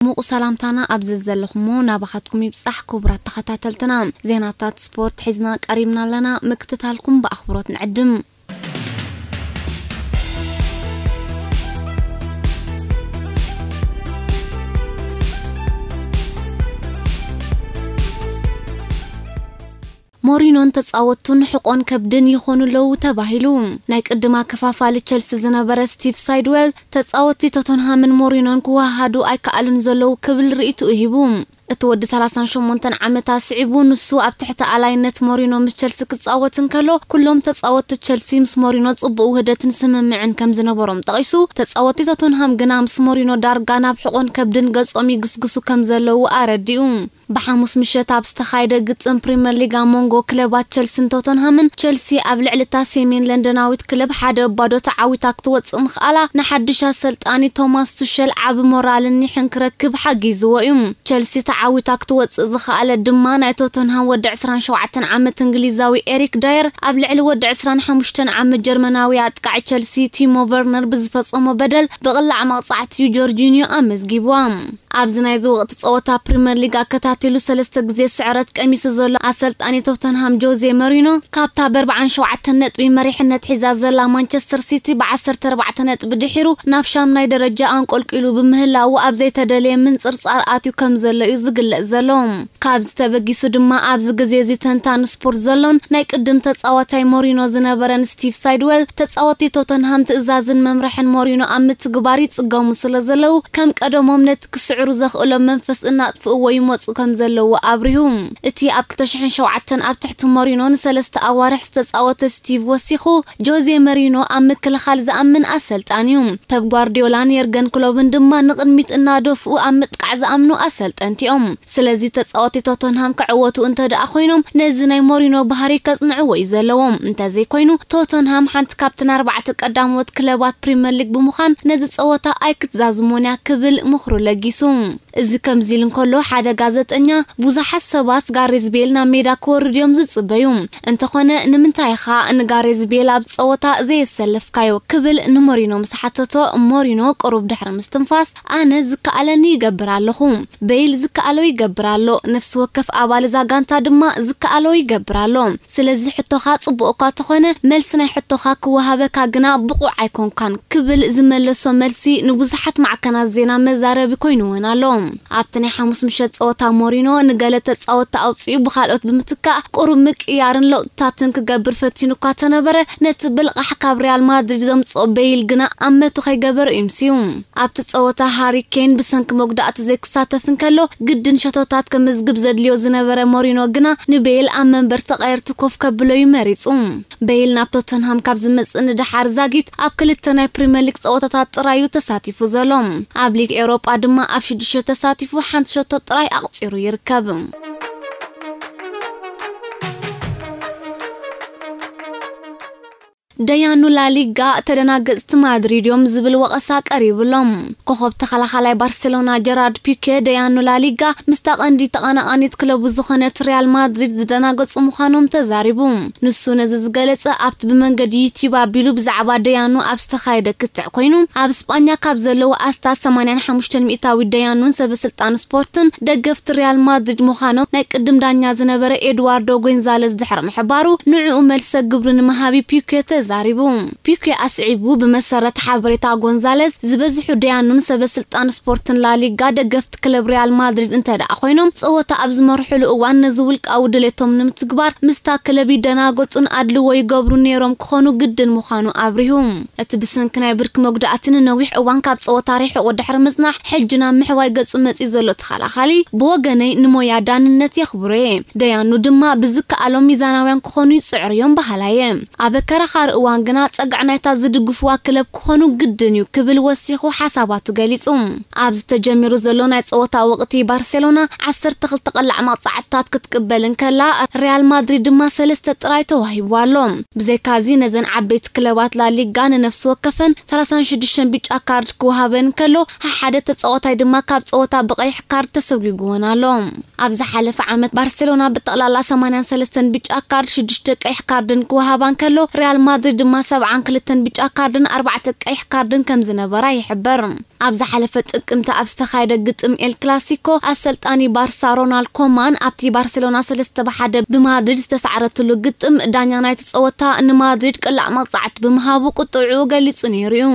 ሙቕ ሰላምታና ኣብ ዘዘለኹሞ ናባኻትኩም ይብጻሕ። ክቡራት ተኸታተልትና፣ ዜናታት ስፖርት ሒዝና ቀሪብና ኣለና። ምክትታልኩም ብኣኽብሮት ንዕድም። ሞሪኖን ተጻወቱን ሕቆን ከብድን ይኾኑ ኣለዉ ተባሂሉ። ናይ ቅድም ኣከፋፋሊ ቸልሲ ዝነበረ ስቲቭ ሳይድዌል፣ ተጻወቲ ቶተንሃምን ሞሪኖን ክወሃሃዱ ኣይከኣሉን ዘለዉ ክብል ርእይትኡ ሂቡ። እቲ ወዲ ሰላሳን ሸሞንተን ዓመታ ስዒቡ፣ ንሱ ኣብ ትሕቲ ኣላይነት ሞሪኖ ምስ ቸልሲ ክጻወት እንከሎ፣ ኩሎም ተጻወቲ ቸልሲ ምስ ሞሪኖ ጽቡቕ ውህደትን ስምምዕን ከም ዝነበሮም ጠቒሱ፣ ተጻወቲ ቶተንሃም ግና ምስ ሞሪኖ ዳርጋ ናብ ሕቆን ከብድን ገጾም ይግስግሱ ከም ዘለዉ ኣረዲኡ። ብሓሙስ ምሸት ኣብ ዝተኻየደ ግጥም ፕሪምየር ሊግ ኣብ መንጎ ክለባት ቸልሲን ቶተንሃምን፣ ቸልሲ ኣብ ልዕሊ እታ ሰሜን ለንደናዊት ክለብ ሓደ ባዶ ተዓዊታ ክትወጽእ ምኽኣላ፣ ንሓድሽ ኣሰልጣኒ ቶማስ ቱሸል ዓቢ ሞራልን ኒሕን ክረክብ ሓጊዝዎ እዩ። ቸልሲ ተዓዊታ ክትወጽእ ዝኸኣለት ድማ፣ ናይ ቶተንሃም ወዲ ዕስራን ሸውዓተን ዓመት እንግሊዛዊ ኤሪክ ዳየር ኣብ ልዕሊ ወዲ ዕስራን ሓሙሽተን ዓመት ጀርመናዊ ኣጥቃዒ ቸልሲ ቲሞ ቨርነር ብዝፈጸሞ በደል ብቕላዕ መቕጻዕቲ እዩ ጆርጂኒዮ ኣመዝጊብዋ። ኣብዚ ናይዚ ወቕቲ ጸወታ ፕሪምየር ሊግ ኣከታቲሉ ሰለስተ ግዜ ስዕረት ቀሚሱ ዘሎ ኣሰልጣኒ ቶተንሃም ጆዜ መሪኖ፣ ካብታ ብኣርብዓን ሸውዓተን ነጥቢ መሪሕነት ሒዛ ዘላ ማንቸስተር ሲቲ ብዓሰርተ ኣርባዕተ ነጥቢ ድሒሩ ናብ ሻምናይ ደረጃ ኣንቆልቂሉ ብምህላዉ፣ ኣብ ዘይተደለየ ምንጽርጻር ኣትዩ ከም ዘሎ እዩ ዝግለጽ ዘሎ። ካብዚ ተበጊሱ ድማ፣ ኣብዚ ግዜ እዚ ተንታኒ ስፖርት ዘሎን ናይ ቅድም ተጻዋታይ ሞሪኖ ዝነበረን ስቲቭ ሳይድዌል፣ ተጻወቲ ቶተንሃም ትእዛዝን መምርሕን ሞሪኖ ኣብ ምትግባር ይጽገሙ ስለ ዘለዉ፣ ከም ቀደሞም ነቲ ክስዕሩ ዘኽእሎም መንፈስ እናጥፍእዎ ይመጹ ከም ዘለዉ ኣብሪሁ። እቲ ኣብ ክልተ ሽሕን ሸውዓተን ኣብ ትሕቲ ሞሪኖ ንሰለስተ ኣዋርሕ ዝተጻወተ ስቲቭ ወሲኹ፣ ጆዜ መሪኖ ኣብ ምክልኻል ዝኣምን ኣሰልጣኒ እዩ። ፐፕ ጓርዲዮላን የርገን ክሎብን ድማ ንቕድሚት እናደፍኡ ኣብ ምጥቃዕ ዝኣምኑ ኣሰልጠንቲ እዮም። ስለዚ ተጻወቲ ቶተንሃም ክዕወቱ እንተ ደኣ ኮይኖም፣ ነዚ ናይ ሞሪኖ ባህሪ ከጽንዕዎ እዩ ዘለዎም። እንተዘይኮይኑ፣ ቶተንሃም ሓንቲ ካብተን ኣርባዕተ ቀዳሞት ክለባት ፕሪምየር ሊግ ብምዃን፣ ነዚ ጸወታ ኣይክትዛዝሞን እያ ክብል ምኽሩ ለጊሱ። እዚ ከምዚ ኢሉ እንከሎ፣ ሓደ ጋዜጠኛ፣ ብዙሓት ሰባት ጋሬዝ ቤል ናብ ሜዳ ክወርድ እዮም ዝጽበዩ። እንተኾነ፣ ንምንታይ ኢኻ ንጋሬዝ ቤል ኣብ ጸወታ ዘየሰለፍካዮ? ክብል ንሞሪኖ ምስ ሓተቶ፣ ሞሪኖ ቁሩብ ድሕሪ ምስትንፋስ፣ ኣነ ዝከኣለኒ ይገብር ኣለኹ። ቤይል ዝከኣሎ ይገብር ኣሎ። ነፍሲ ወከፍ ኣባል እዛ ጋንታ ድማ ዝከኣሎ ይገብር ኣሎ። ስለዚ ሕቶኻ ጽቡቕ እኳ ተኾነ፣ መልሲ ናይ ሕቶኻ ክወሃበካ ግና ብቑዕ ኣይኮንካን፣ ክብል ዝመለሶ መልሲ ንብዙሓት ማዕከናት ዜና መዛረቢ ኮይኑወን ኣሎ። ኣብቲ ናይ ሓሙስ ምሸት ጸወታ ሞሪኖ ንገለ ተጻወትቲ ኣውጺኡ ብኻልኦት ብምትካእ ቁሩብ ምቅያርን ለውጥታትን ክገብር ፈቲኑ እኳ ተነበረ፣ ነቲ ብልቓሕ ካብ ሪያል ማድሪድ ዘምጽኦ ቤይል ግና ኣብ መቱ ከይገበረ እዩ ምስዩ። ኣብቲ ጸወታ ሃሪ ኬን ብሰንኪ መጉዳእቲ ዘይክሳተፍ እንከሎ፣ ግድን ሸቶታት ከመዝግብ ዘድልዮ ዝነበረ ሞሪኖ ግና ንቤይል ኣብ መንበር ተቐየርቲ ኮፍ ከብሎ እዩ መሪጹ። ቤይል ናብ ቶተንሃም ካብ ዝመጽእ ንደሓር ዛጊት ኣብ ክልተ ናይ ፕሪምየር ሊግ ጸወታታት ጥራይ እዩ ተሳቲፉ ዘሎ። ኣብ ሊግ ኤውሮጳ ድማ ኣብ ሽዱሽተ ተሳቲፉ ሓንቲ ሸቶ ጥራይ ኣቕጺሩ ይርከብ። ደያኑ ላሊጋ ተደናገጽቲ ማድሪድ እዮም ዝብል ወቐሳ ቀሪቡሎም። ኮኸብ ተኸላኻላይ ባርሴሎና ጀራርድ ፒኬ፣ ደያኑ ላሊጋ ምስታ ቀንዲ ተቐናቓኒት ክለቡ ዝኾነት ሪያል ማድሪድ ዝደናገጹ ምዃኖም ተዛሪቡ። ንሱ ነዚ ዝገለጸ፣ ኣብቲ ብመንገዲ ዩትዩብ ኣቢሉ ብዛዕባ ደያኑ ኣብ ዝተኻየደ ክትዕ ኮይኑ፣ ኣብ ስጳኛ ካብ ዘለዉ ኣስታት ሰማንያን ሓሙሽተን ሚእታዊት ደያኑን ሰበ ስልጣን ስፖርትን ደገፍቲ ሪያል ማድሪድ ምዃኖም ናይ ቅድም ዳኛ ዝነበረ ኤድዋርዶ ጎንዛለዝ ድሕሪ ምሕባሩ፣ ንዕኡ መልሰ ግብሪ ንምሃብ ፒኬ ተዛሪቡ። ፒኬ ኣስዒቡ፣ ብመሰረት ሓበሬታ ጎንዛለዝ፣ ዝበዝሑ ደያኑን ሰበ ስልጣን ስፖርትን ላሊጋ ደገፍቲ ክለብ ሪያል ማድሪድ እንተ ደኣ ኮይኖም፣ ጸወታ ኣብ ዝመርሕሉ እዋን ነዚ ውልቃዊ ድሌቶም ንምትግባር ምስታ ክለብ ይደናገጹን ኣድልዎ ይገብሩ ነይሮም ክኾኑ ግድን ምዃኑ ኣብሪሁ። እቲ ብሰንኪ ናይ ብርኪ መጉዳእቲ ንነዊሕ እዋን ካብ ጸወታ ርሒቑ ድሕሪ ምጽናሕ፣ ሕጂ ናብ ምሕዋይ ገጹ መጺኡ ዘሎ ተኸላኻሊ፣ ብወገነይ ንሞያ ዳንነት የኽብሮ እየ። ደያኑ ድማ ብዝከኣሎም ሚዛናውያን ክኾኑ ይጽዕሩ እዮም በሃላይ እየ። ኣብ ኣከራኻሪ እዋን ግና ጸግዒ ናይታ ዝድግፍዋ ክለብ ክኾኑ ግድን እዩ ክብል ወሲኹ ሓሳባቱ ገሊጹ። ኣብዚ ተጀሚሩ ዘሎ ናይ ጸወታ ወቕቲ ባርሴሎና ዓሰርተ ክልተ ቀላዕ መቕጻዕትታት ክትቅበል እንከላ፣ ሪያል ማድሪድ ድማ ሰለስተ ጥራይ ተዋሂብዋ ኣሎ። ብዘይካዚ ነዘን ዓበይቲ ክለባት ላሊጋ ንነፍሲ ወከፈን ሰላሳን ሽዱሽተን ቢጫ ካርድ ክወሃበን እንከሎ፣ ሓደ ተጻዋታይ ድማ ካብ ጸወታ ብቐይሕ ካርድ ተሰጒግወን ኣሎ። ኣብ ዝሓለፈ ዓመት ባርሴሎና ብጠቕላላ ሰማንያን ሰለስተን ቢጫ ካርድ፣ ሽዱሽተ ቀይሕ ካርድን ክወሃባ እንከሎ፣ ሪያል ማድሪድ ድማ ሰብዓን ክልተን ብጫ ካርድን ኣርባዕተ ቀይሕ ካርድን ከም ዝነበራ ይሕበር። ኣብ ዝሓለፈ ጥቅምቲ ኣብ ዝተኻየደ ግጥም ኤል ክላሲኮ፣ ኣሰልጣኒ ባርሳ ሮናልድ ኮማን ኣብቲ ባርሴሎና ሰለስተ ብሓደ ብማድሪድ ዝተሳዕረትሉ ግጥም፣ ዳኛ ናይቲ ጸወታ ንማድሪድ ቅላዕ መቕጻዕቲ ብምሃቡ ቁጥዑ ገሊጹ ነይሩ እዩ።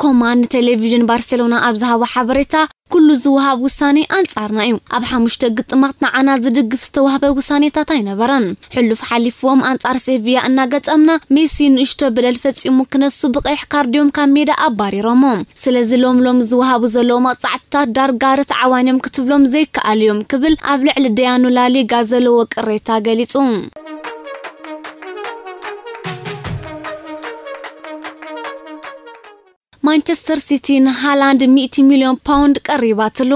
ኮማን ንቴሌቪዥን ባርሴሎና ኣብ ዝሃቦ ሓበሬታ፣ "ኩሉ ዝወሃብ ውሳኔ ኣንጻርና እዩ። ኣብ ሓሙሽተ ግጥማት ንዓና ዝድግፍ ዝተዋህበ ውሳኔታት ኣይነበረን። ሕሉፍ ሓሊፍዎም ኣንጻር ሴቪያ እናገጠምና፣ ሜሲ ንእሽቶ በደል ፈጺሙ ክነሱ ብቀይሕ ካርድ እዮም ካብ ሜዳ ኣባሪሮሞ። ስለዚ ሎም ሎም ዝወሃቡ ዘለዉ መቕጻዕትታት ዳርጋ ርትዓዋን እዮም ክትብሎም ዘይከኣል እዮም" ክብል ኣብ ልዕሊ ደያኑ ላሊጋ ዘለዎ ቅሬታ ገሊጹ። ማንቸስተር ሲቲ ንሃላንድ ሚእቲ ሚልዮን ፓውንድ ቀሪባትሉ።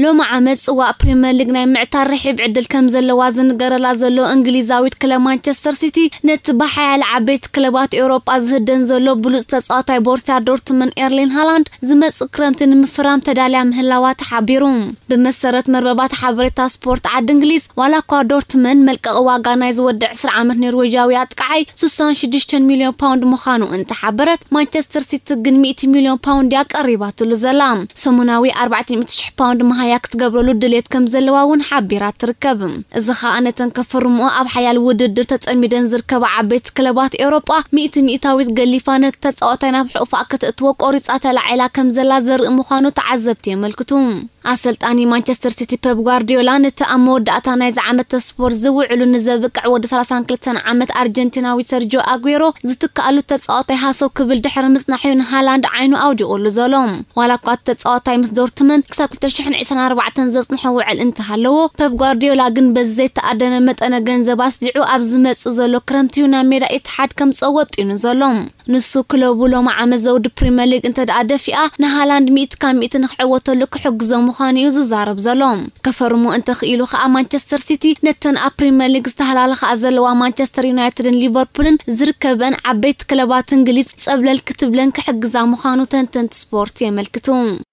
ሎሚ ዓመት ጽዋእ ፕሪምየር ሊግ ናይ ምዕታር ርሒብ ዕድል ከም ዘለዋ ዝንገረላ ዘሎ እንግሊዛዊት ክለብ ማንቸስተር ሲቲ፣ ነቲ ብሓያለ ዓበይቲ ክለባት ኤውሮጳ ዝህደን ዘሎ ብሉጽ ተጻዋታይ ቦርሲያ ዶርትመን ኤርሊን ሃላንድ ዝመጽእ ክረምቲ ንምፍራም ተዳልያ ምህላዋ ተሓቢሩ። ብመሰረት መርበባት ሓበሬታ ስፖርት ዓዲ እንግሊዝ፣ ዋላ እኳ ዶርትመን መልቀቒ ዋጋ ናይ ዝወዲ ዕስራ ዓመት ኖርዌጃዊ ኣጥቃዓይ ስሳን ሽዱሽተን ሚልዮን ፓውንድ ምዃኑ እንተሓበረት፣ ማንቸስተር ሲቲ ግን ሚእቲ ሚልዮን ፓውንድ እያ ቀሪባትሉ ዘላ። ሰሙናዊ ኣርባዕተ ሚእቲ ሽሕ ፓውንድ መሃያ ክትገብረሉ ድሌት ከም ዘለዋ እውን ሓቢራ ትርከብ። እዚ ኸኣ ነተን ከፈርምኦ ኣብ ሓያል ውድድር ተጸሚደን ዝርከባ ዓበይቲ ክለባት ኤውሮጳ ሚእቲ ሚእታዊት ገሊፋ ነቲ ተጻዋታይ ናብ ሕቑፋ ከተእትዎ ቆሪጻ ተላዒላ ከም ዘላ ዘርኢ ምዃኑ ተዓዘብቲ የመልክቱ። ኣሰልጣኒ ማንቸስተር ሲቲ ፔፕ ጓርዲዮላ ነቲ ኣብ መወዳእታ ናይዚ ዓመተ ስፖርት ዝውዕሉ ንዘብቅዕ ወዲ ሰላሳን ክልተን ዓመት ኣርጀንቲናዊ ሰርጆ ኣጉዌሮ ዝትክኣሉ ተጻዋታይ ሃሰው ክብል ድሕሪ ምጽናሕ'ዩ ንሃላንድ ዓይኑ ኣውዲቑሉ ዘሎ። ዋላ እኳ እቲ ተጻዋታይ ምስ ዶርትመንድ ክሳብ ክልተ ሽሕን ዕስራን ኣርባዕተን ዘጽንሖ ውዕል እንተሃለዎ፣ ፔፕ ጓርዲዮላ ግን በዚ ዘይተኣደነ መጠነ ገንዘብ ኣስዲዑ ኣብ ዝመጽእ ዘሎ ክረምቲ'ዩ ናብ ሜዳ ኢትሓድ ከምጽኦ ወጢኑ ዘሎ። ንሱ ክለቡ ሎሚ ዓመት ዘውዲ ፕሪምየር ሊግ እንተ ደኣ ደፊኣ፣ ንሃላንድ ሚእቲ ካብ ሚእቲ ንክዕወተሉ ክሕግዞ ምዃኑ እዩ ዝዛረብ ዘሎ። ከፈርሞ እንተኽኢሉ ከኣ፣ ማንቸስተር ሲቲ ነተን ኣብ ፕሪምየር ሊግ ዝተሃላለኻ ዘለዋ ማንቸስተር ዩናይትድን ሊቨርፑልን ዝርከበን ዓበይቲ ክለባት እንግሊዝ ጸብለል ክትብለን ክሕግዛ ምዃኑ ተንተንቲ ስፖርት የመልክቱ።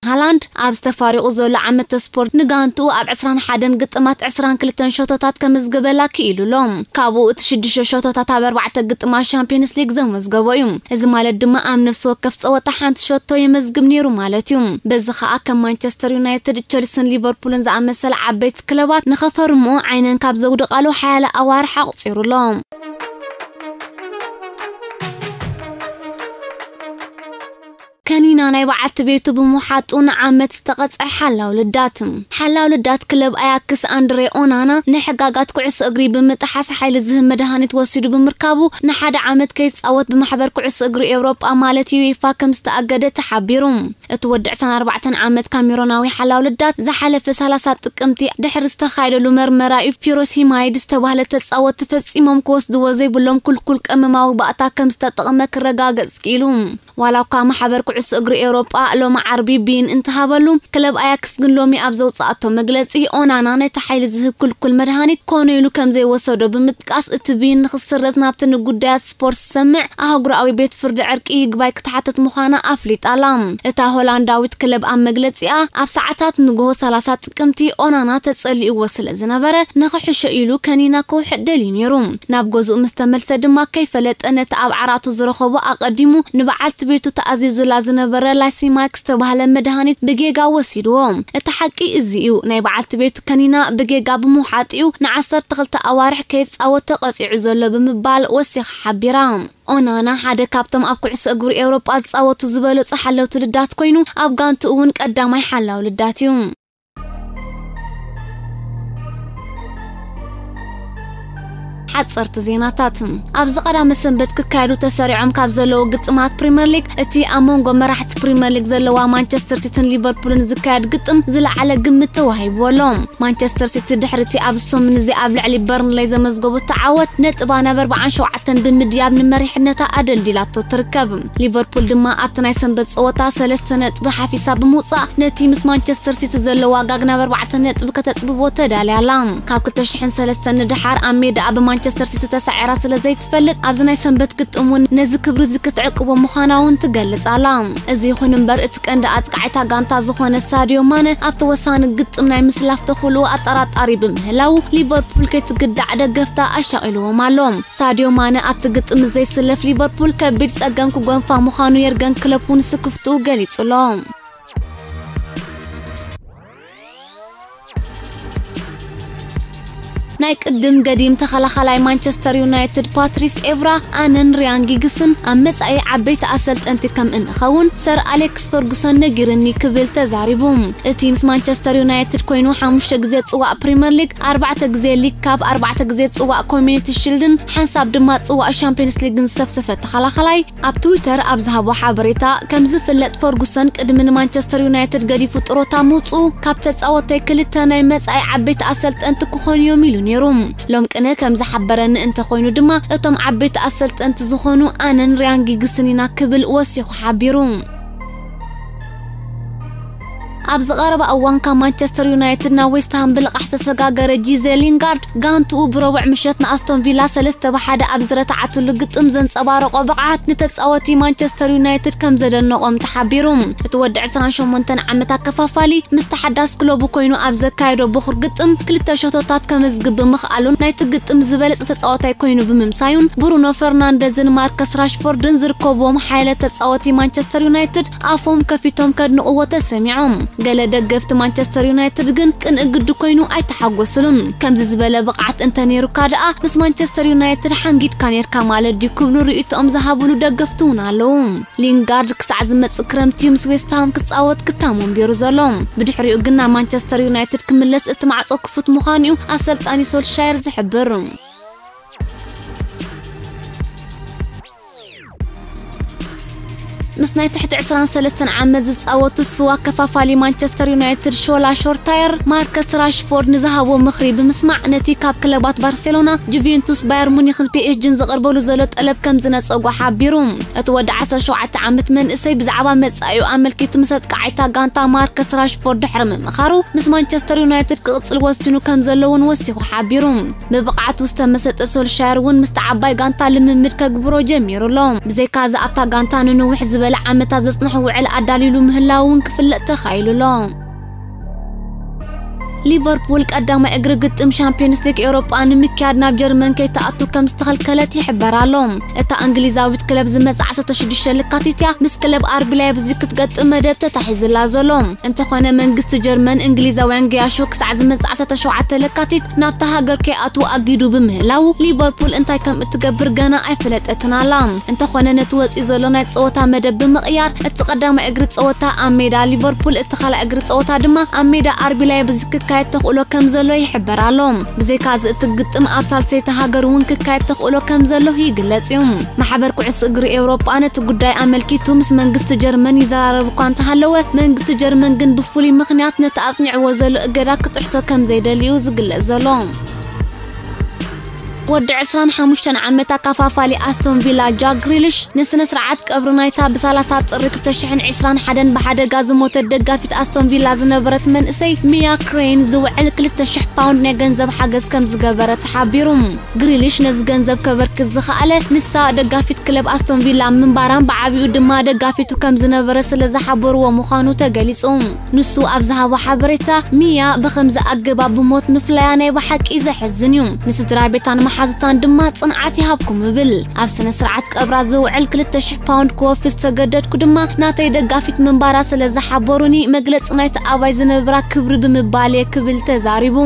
ሃላንድ ኣብ ዝተፋሪቑ ዘሎ ዓመተ ስፖርት ንጋንትኡ ኣብ ዕስራን ሓደን ግጥማት ዕስራን ክልተን ሸቶታት ከምዝግበላ ክኢሉ ኣሎ። ካብኡ እቲ ሽዱሽተ ሸቶታት ኣብ ኣርባዕተ ግጥማት ሻምፒዮንስ ሊግ ዘመዝገቦ እዩ። እዚ ማለት ድማ ኣብ ነፍሲ ወከፍ ጸወታ ሓንቲ ሸቶ የመዝግብ ነይሩ ማለት እዩ። በዚ ኸኣ ከም ማንቸስተር ዩናይትድ፣ ቸልሲን ሊቨርፑልን ዝኣመሰላ ዓበይቲ ክለባት ንኸፈርምኡ ዓይነን ካብ ዘውድቓሉ ሓያለ ኣዋርሕ ኣቑጺሩ ኣሎ። ከኒና ናይ በዓልቲ ቤቱ ብምውሓጡ ንዓመት ዝተቐጽዐ ሓላው ልዳት። ሓላው ልዳት ክለብ ኣያክስ ኣንድሬ ኦናና ንሕጋጋት ኩዕሶ እግሪ ብምጥሓስ ሓይሊ ዝህብ መድሃኒት ወሲዱ ብምርካቡ ንሓደ ዓመት ከይጻወት ብማሕበር ኩዕሶ እግሪ ኤውሮጳ ማለት ዩኤፋ ከም ዝተኣገደ ተሓቢሩ። እቲ ወዲ ዕስራን ኣርባዕተን ዓመት ካሜሮናዊ ሓላው ልዳት ዝሓለፈ ሰላሳ ጥቅምቲ ድሕሪ ዝተኻየደሉ መርመራ እዩ ፊሮሲማይድ ዝተባህለ ተጻወቲ ፈጺሞም ክወስድዎ ዘይብሎም ኩልኩል ቀመማዊ ባእታ ከም ዝተጠቕመ ክረጋገጽ ክኢሉ። ዋላ እኳ ማሕበር ኩዕሶ እግሪ ኤውሮጳ ሎሚ ዓርቢ ብይን እንተሃበሉ፣ ክለብ ኣያክስ ግን ሎሚ ኣብ ዘውጽኣቶ መግለጺ፣ ኦናና ነቲ ሓይሊ ዝህብ ኩልኩል መድሃኒት ኮነ ኢሉ ከም ዘይወሰዶ ብምጥቃስ፣ እቲ ብይን ንኽስረዝ ናብቲ ንጉዳያት ስፖርት ዝሰምዕ ኣህጉራዊ ቤት ፍርዲ ዕርቂ ይግባይ ክትሓትት ምዃና ኣፍሊጣ ኣላ። እታ ሆላንዳዊት ክለብ ኣብ መግለጺኣ፣ ኣብ ሰዓታት ንግሆ ሰላሳ ጥቅምቲ ኦናና ተጸሊእዎ ስለ ዝነበረ፣ ንኽሕሾ ኢሉ ከኒና ክውሕጥ ደልዩ ነይሩ። ናብ ገዝኡ ምስ ተመልሰ ድማ ከይፈለጠ ነቲ ኣብ ዓራቱ ዝረኸቦ ኣቐዲሙ ንበዓልቲ ቤቱ ተኣዚዙላ ዝነበረ ላይሲማክ ዝተባህለ መድሃኒት ብጌጋ ወሲድዎ። እቲ ሓቂ እዚ እዩ። ናይ በዓልቲ ቤቱ ከኒና ብጌጋ ብምውሓጥ እዩ ንዓሰርተ ክልተ ኣዋርሕ ከይጻወት ተቐጺዑ ዘሎ ብምባል ወሲኻ ሓቢራ። ኦናና ሓደ ካብቶም ኣብ ኩዕሶ እግሪ ኤውሮጳ ዝጻወቱ ዝበለጹ ሓለውቲ ልዳት ኮይኑ፣ ኣብ ጋንቱ እውን ቀዳማይ ሓላው ልዳት እዩ። ሓጸርቲ ዜናታት። ኣብዚ ቀዳመ ሰንበት ክካየዱ ተሰሪዖም ካብ ዘለዉ ግጥማት ፕሪምየር ሊግ፣ እቲ ኣብ መንጎ መራሕቲ ፕሪምየር ሊግ ዘለዋ ማንቸስተር ሲቲን ሊቨርፑልን ዝካየድ ግጥም ዝለዓለ ግምት ተዋሂብዎ ኣሎ። ማንቸስተር ሲቲ ድሕሪ እቲ ኣብ ሰሙን እዚ ኣብ ልዕሊ በርንሌይ ዘመዝገቦ ተዓወት፣ ነጥባ ናብ ኣርባዓን ሸውዓተን ብምድያብ ንመሪሕነታ ኣደልዲላቶ ትርከብ። ሊቨርፑል ድማ ኣብቲ ናይ ሰንበት ጸወታ ሰለስተ ነጥቢ ሓፊሳ ብምውጻእ፣ ነቲ ምስ ማንቸስተር ሲቲ ዘሎ ዋጋ ናብ ኣርባዕተ ነጥቢ ከተጽብቦ ተዳልያ ኣላ። ካብ ክልተ ሽሕን ሰለስተን ንደሓር ኣብ ሜዳ ብማን- ማንቸስተር ሲቲ ተሳዒራ ስለ ዘይትፈልጥ፣ ኣብዚ ናይ ሰንበት ግጥም እውን ነዚ ክብሪ እዚ ክትዕቅቦ ምዃና እውን ትገልጽ ኣላ። እዚ ይኹን እምበር፣ እቲ ቀንዲ ኣጥቃዒታ ጋንታ ዝኾነ ሳድዮ ማነ ኣብቲ ወሳኒ ግጥም ናይ ምስላፍ ተኽእልኡ ኣጠራጣሪ ብምህላው፣ ሊቨርፑል ከይትግዳዕ ደገፍታ ኣሻቒልዎም ኣሎ። ሳድዮ ማነ ኣብቲ ግጥም ዘይስለፍ ሊቨርፑል ከቢድ ጸገም ክጎንፋ ምዃኑ የርገን ክሎፕ እውን ስክፍትኡ ገሊጹ ኣሎ። ናይ ቅድም ገዲም ተኸላኻላይ ማንቸስተር ዩናይትድ ፓትሪስ ኤቭራ፣ ኣነን ሪያን ጊግስን ኣብ መጻኢ ዓበይቲ ኣሰልጠንቲ ከም እንኸውን ሰር ኣሌክስ ፈርጉሰን ነጊርኒ ክብል ተዛሪቡ። እቲ ምስ ማንቸስተር ዩናይትድ ኮይኑ ሓሙሽተ ግዜ ጽዋእ ፕሪምየር ሊግ፣ ኣርባዕተ ግዜ ሊግ ካፕ፣ ኣርባዕተ ግዜ ጽዋእ ኮሚኒቲ ሺልድን ሓንሳብ ድማ ጽዋእ ሻምፒዮንስ ሊግን ዝሰፍሰፈ ተኸላኻላይ፣ ኣብ ትዊተር ኣብ ዝሃቦ ሓበሬታ፣ ከም ዝፍለጥ ፈርጉሰን ቅድሚ ንማንቸስተር ዩናይትድ ገዲፉ ጥሮታ ምውጽኡ፣ ካብ ተጻወተይ ክልተ ናይ መጻኢ ዓበይቲ ኣሰልጠንቲ ክኾኑ እዮም ኢሉ ነይሩ። ሎም ቅነ ከም ዝሓበረኒ እንተኾይኑ ድማ፣ እቶም ዓበይቲ ኣሰልጠንቲ ዝኾኑ ኣነን ሪያን ጊግስን ኢና ክብል ወሲኹ ሓቢሩ። ኣብዚ ቀረባ እዋን ካብ ማንቸስተር ዩናይትድ ናብ ዌስትሃም ብልቓሕ ዝተሰጋገረ ጂዜ ሊንጋርድ፣ ጋንትኡ ብረቡዕ ምሸት ንኣስቶን ቪላ ሰለስተ ብ ሓደ ኣብ ዝረትዓትሉ ግጥም ዘንጸባረቖ ብቕዓት፣ ንተጻወቲ ማንቸስተር ዩናይትድ ከም ዘደነቖም ተሓቢሩ። እቲ ወዲ ዕስራን ሸሞንተን ዓመት ኣከፋፋሊ፣ ምስ ተሓዳስ ክለቡ ኮይኑ ኣብ ዘካየዶ ብኹር ግጥም ክልተ ሸቶታት ከመዝግብ ብምኽኣሉን ናይቲ ግጥም ዝበለጸ ተጻዋታይ ኮይኑ ብምምሳዩን፣ ብሩኖ ፈርናንደዝን ማርከስ ራሽፎርድን ዝርከብዎም ሓያለ ተጻወቲ ማንቸስተር ዩናይትድ ኣፎም ከፊቶም ከድንቕዎ ተሰሚዖም። ገለ ደገፍቲ ማንቸስተር ዩናይትድ ግን ቅንኢ ግዲ ኮይኑ ኣይተሓጎስሉን። ከምዚ ዝበለ ብቕዓት እንተ ነይሩካ ደኣ ምስ ማንቸስተር ዩናይትድ ሓንጊድካ ነይርካ ማለት ድዩ ክብሉ ርእይቶኦም ዝሃብሉ ደገፍቲ እውን ኣለዉ። ሊንጋርድ ክሳዕ ዝመጽእ ክረምቲ እዩ ምስ ዌስትሃም ክጻወት ክታሞ ኣንቢሩ ዘሎ። ብድሕሪኡ ግን ናብ ማንቸስተር ዩናይትድ ክምለስ እቲ ማዕጾ ክፉት ምዃኑ እዩ ኣሰልጣኒ ሶልሻየር ዝሕብር። ምስ ናይ ትሕቲ ዕስራን ሰለስተን ዓመት ዝጻወት ትስፉው ኣከፋፋሊ ማንቸስተር ዩናይትድ ሾላ ሾርታየር፣ ማርከስ ራሽፎርድ ንዝሃቦ ምኽሪ ብምስማዕ፣ ነቲ ካብ ክለባት ባርሴሎና፣ ጁቬንቱስ፣ ባየር ሙኒኽን ፒኤስጂን ዝቐርበሉ ዘሎ ጠለብ ከም ዝነጸጎ ሓቢሩ። እቲ ወዲ ዓሰርተ ሸውዓተ ዓመት መንእሰይ ብዛዕባ መጻኢኡ ኣመልኪቱ ምስ ኣጥቃዓይታ ጋንታ ማርከስ ራሽፎርድ ድሕሪ ምምኻሩ፣ ምስ ማንቸስተር ዩናይትድ ክቕጽል ወሲኑ ከም ዘሎ እውን ወሲኹ ሓቢሩ። ብብቕዓቱ ዝተመሰጠ ሶልሻየር እውን ምስቲ ዓባይ ጋንታ ልምምድ ከግብሮ ጀሚሩ ኣሎ። ብዘይካዚ ኣብታ ጋንታ ንንውሕ ዝበለ ዓመታት ዘጽንሖ ውዕል ኣዳልዩሉ ምህላው እውን ክፍለጥ ተኻኢሉ ኣሎ። ሊቨርፑል ቀዳማይ እግሪ ግጥም ሻምፒዮንስ ሊግ ኤውሮጳ ንምክያድ ናብ ጀርመን ከይትኣቱ ከም ዝተኸልከለት ይሕበር ኣሎ። እታ እንግሊዛዊት ክለብ ዝመጽእ ዓሰርተ ሽዱሽተ ለካቲት እያ ምስ ክለብ ኣርቢ ላይፕዚግ ክትገጥም መደብ ተታሒዝላ ዘሎ። እንተኾነ መንግስቲ ጀርመን እንግሊዛውያን ገያሾ ክሳዕ ዝመጽእ ዓሰርተ ሸውዓተ ለካቲት ናብታ ሃገር ከይኣትዉ ኣጊዱ ብምህላው ሊቨርፑል እንታይ ከም እትገብር ገና ኣይፈለጠትን ኣላ። እንተኾነ ነቲ ወጺኡ ዘሎ ናይ ጸወታ መደብ ብምቕያር እቲ ቀዳማይ እግሪ ጸወታ ኣብ ሜዳ ሊቨርፑል፣ እቲ ካልኣይ እግሪ ጸወታ ድማ ኣብ ሜዳ ኣርቢ ላይፕዚግ ክካየድ ተኽእሎ ከም ዘሎ ይሕበር ኣሎ። ብዘይካዚ እቲ ግጥም ኣብ ሳልሰይቲ ሃገር እውን ክካየድ ተኽእሎ ከም ዘሎ ይግለጽ እዩ። ማሕበር ኩዕሶ እግሪ ኤውሮጳ ነቲ ጉዳይ ኣመልኪቱ ምስ መንግስቲ ጀርመን ይዘራረብ እኳ እንተሃለወ፣ መንግስቲ ጀርመን ግን ብፍሉይ ምኽንያት ነቲ ኣጽኒዕዎ ዘሎ እገዳ ክጥሕሶ ከም ዘይደሊ እዩ ዝግለጽ ዘሎ። ወዲ ዕስራን ሓሙሽተን ዓመት ኣካፋፋሊ ኣስቶን ቪላ ጃክ ግሪሊሽ ንስነ ስርዓት ቀብሪ ናይታ ብ ሰላሳ ጥሪ ክልተ ሽሕን ዕስራን ሓደን ብሓደጋ ዝሞተት ደጋፊት ኣስቶን ቪላ ዝነበረት መንእሰይ ሚያ ክሬን ዝውዕል ክልተ ሽሕ ፓውንድ ናይ ገንዘብ ሓገዝ ከም ዝገበረ ተሓቢሩ። ግሪሊሽ ነዚ ገንዘብ ከበርክት ዝኸኣለ ንሳ ደጋፊት ክለብ ኣስቶን ቪላ ምንባራን ብዓቢኡ ድማ ደጋፊቱ ከም ዝነበረ ስለ ዝሓበርዎ ምዃኑ ተገሊጹ። ንሱ ኣብ ዝሃቦ ሓበሬታ፣ ሚያ ብኸምዚ ኣገባብ ብሞት ምፍላያ ናይ ብሓቂ ዘሕዝን እዩ። ንስድራ ቤታን መሓዙታን ድማ ጽንዓት ይሃብኩም እብል። ኣብ ስነ ስርዓት ቀብራ ዝውዕል ክልተ ሽሕ ፓውንድ ክወፊ ዝተገደድኩ ድማ ናተይ ደጋፊት ምንባራ ስለ ዝሓበሩኒ መግለጺ ናይቲ ኣባይ ዝነብራ ክብሪ ብምባል እየ ክብል ተዛሪቡ።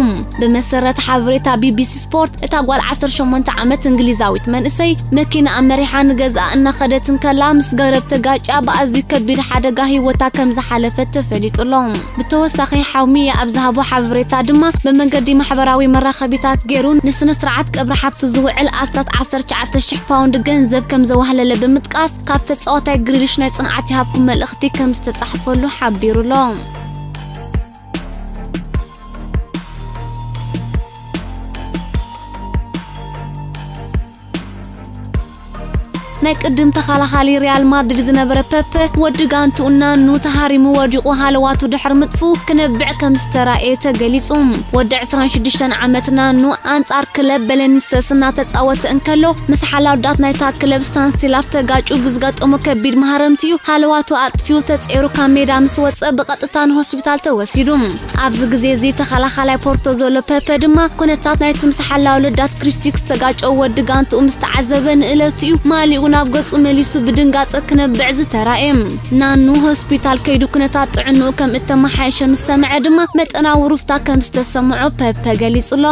ብመሰረት ሓበሬታ ቢቢሲ ስፖርት፣ እታ ጓል ዓሰርተ ሸሞንተ ዓመት እንግሊዛዊት መንእሰይ መኪና ኣመሪሓ ንገዝኣ እናኸደት እንከላ ምስ ገረብ ተጋጭያ ብኣዝዩ ከቢድ ሓደጋ ህይወታ ከም ዝሓለፈት ተፈሊጡ ኣሎ። ብተወሳኺ ሓው ሚያ ኣብ ዝሃቦ ሓበሬታ ድማ ብመንገዲ ማሕበራዊ መራኸቢታት ገይሩ ንስነ ስርዓት ቀብሪ ሓብቱ ዝውዕል ኣስታት ዓሰርተ ትሽዓተ ሽሕ ፓውንድ ገንዘብ ከም ዘዋህለለ ብምጥቃስ ካብ ተጻዋታይ ግሪሊሽ ናይ ጽንዓት ይሃብኩም መልእኽቲ ከም ዝተጻሕፈሉ ሓቢሩ ኣሎ። ናይ ቅድም ተኸላኻሊ ሪያል ማድሪድ ዝነበረ ፐፐ፣ ወዲ ጋንትኡ ናኑ ተሃሪሙ ወዲቑ ሃለዋቱ ድሕሪ ምጥፍኡ ክነብዕ ከም ዝተራእየ ተገሊጹ። ወዲ ዕስራን ሽዱሽተን ዓመት ናኑ ኣንጻር ክለብ በለኒሰስ እናተጻወተ እንከሎ፣ ምስ ሓላውዳት ናይታ ክለብ ስታንሲላፍ ተጋጩ ብዝገጠሞ ከቢድ ማህረምቲ እዩ ሃለዋቱ ኣጥፊኡ ተጸይሩ ካብ ሜዳ ምስ ወጸ ብቐጥታ ንሆስፒታል ተወሲዱ። ኣብዚ ግዜ እዚ ተኸላኻላይ ፖርቶ ዘሎ ፐፐ ድማ ኩነታት ናይቲ ምስ ሓላው ልዳት ክሪስቲክ ዝተጋጨው ወዲ ጋንትኡ ምስ ተዓዘበ ንእለቱ እዩ ማሊኡ ናብ ገጹ መሊሱ ብድንጋጸ ክነብዕ ዝተራእየ። ናኑ ሆስፒታል ከይዱ ኩነታት ጥዕንኡ ከም እተመሓየሸ ምስ ሰምዐ ድማ መጠናዊ ሩፍታ ከም ዝተሰምዖ ፐፐ ገሊጹ ኣሎ።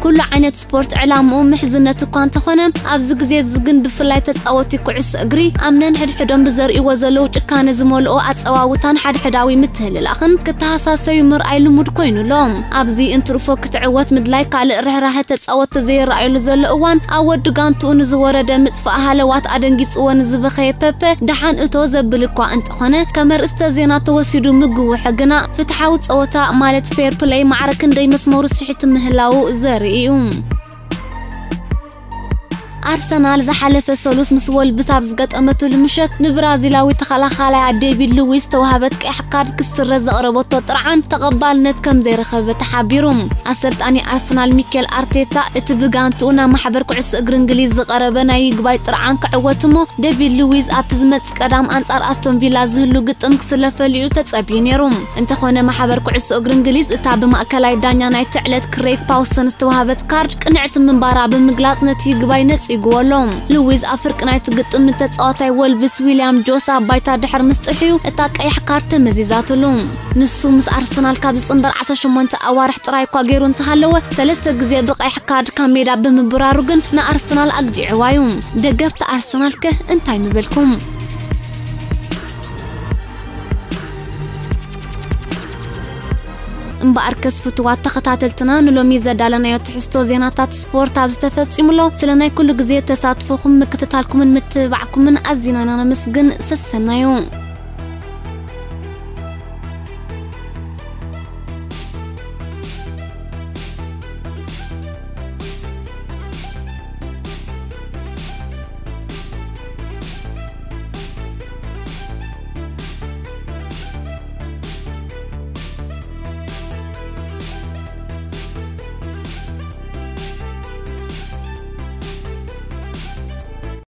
ኩሉ ዓይነት ስፖርት ዕላምኡ ምሕዝነት እኳ እንተኾነ፣ ኣብዚ ግዜ እዚ ግን ብፍላይ ተጻወቲ ኩዕሶ እግሪ ኣብ ነንሕድሕዶም ብዘርእይዎ ዘለዉ ጭካነ ዝመልኦ ኣጸዋውታን ሓድሕዳዊ ምትህልላኽን ክተሃሳሰዩ ምርኣይ ልሙድ ኮይኑ ኣሎ። ኣብዚ እንትርፎ ክትዕወት ምድላይ ካልእ ርህራሀ ተጻወቲ ዘይረኣየሉ ዘሎ እዋን፣ ኣብ ወዲ ጋንትኡ ንዝወረደ ምጥፋእ ሃለዋት ኣደንጊጽዎ ንዝበኸየ ፐፐ ደሓን እቶ ዘብል እኳ እንተኾነ፣ ከም ኣርእስተ ዜና ተወሲዱ ምግውሑ ግና ፍትሓዊ ጸወታ ማለት ፌር ፕለይ ማዕረ ክንደይ መስመሩ ስሒቱ ምህላዉ ዘርኢ እዩ። ኣርሰናል ዝሓለፈ ሰሉስ ምስ ወልቭስ ኣብ ዝገጠመትሉ ምሸት ንብራዚላዊ ተኸላኻላይ ዴቪድ ሉዊስ ተዋህበት ቀያሕ ካርድ ክስረዝ ዘቕረበቶ ጥርዓን ተቐባልነት ከም ዘይረኸበ ተሓቢሩ። ኣሰልጣኒ ኣርሰናል ሚኬል ኣርቴታ እቲ ብጋንትኡ ናብ ማሕበር ኩዕሶ እግሪ እንግሊዝ ዝቐረበ ናይ ይግባይ ጥርዓን ክዕወት እሞ ዴቪድ ሉዊስ ኣብቲ ዝመጽእ ቀዳም ኣንጻር ኣስቶን ቪላ ዝህሉ ግጥም ክስለፈሉ እዩ ተጸብዩ ነይሩ። እንተኾነ ማሕበር ኩዕሶ እግሪ እንግሊዝ እታ ብማእከላይ ዳኛ ናይቲ ዕለት ክሬግ ፓውሰን ዝተዋህበት ካርድ ቅንዕቲ ምንባራ ብምግላጽ ነቲ ይግባይ ነጺግዎ ኣሎ። ሉዊዝ ኣብ ፍርቂ ናይቲ ግጥም ንተጻዋታይ ወልቭስ ዊልያም ጆስ ኣብ ባይታ ድሕሪ ምስጥሕዩ እታ ቀያሕ ካርድ ተመዚዛትሉ። ንሱ ምስ ኣርሰናል ካብ ዝጽንበር ዓሰርተ ሸሞንተ ኣዋርሕ ጥራይ እኳ ገይሩ እንተሃለወ፣ ሰለስተ ግዜ ብቀያሕ ካርድ ካብ ሜዳ ብምብራሩ ግን ንኣርሰናል ኣግዲዕዋ እዩ። ደገፍቲ ኣርሰናል ከ እንታይ ምበልኩም? እምበኣርከስ ፍቱዋት ተኸታተልትና፣ ንሎሚ ዘዳለናዮ ትሕዝቶ ዜናታት ስፖርት ኣብዚ ተፈጺሙ ኣሎ። ስለ ናይ ኩሉ ግዜ ተሳትፎኹም፣ ምክትታልኩምን ምትብባዕኩምን ኣዚና ኢና ነመስግን። ሰሰናዩ።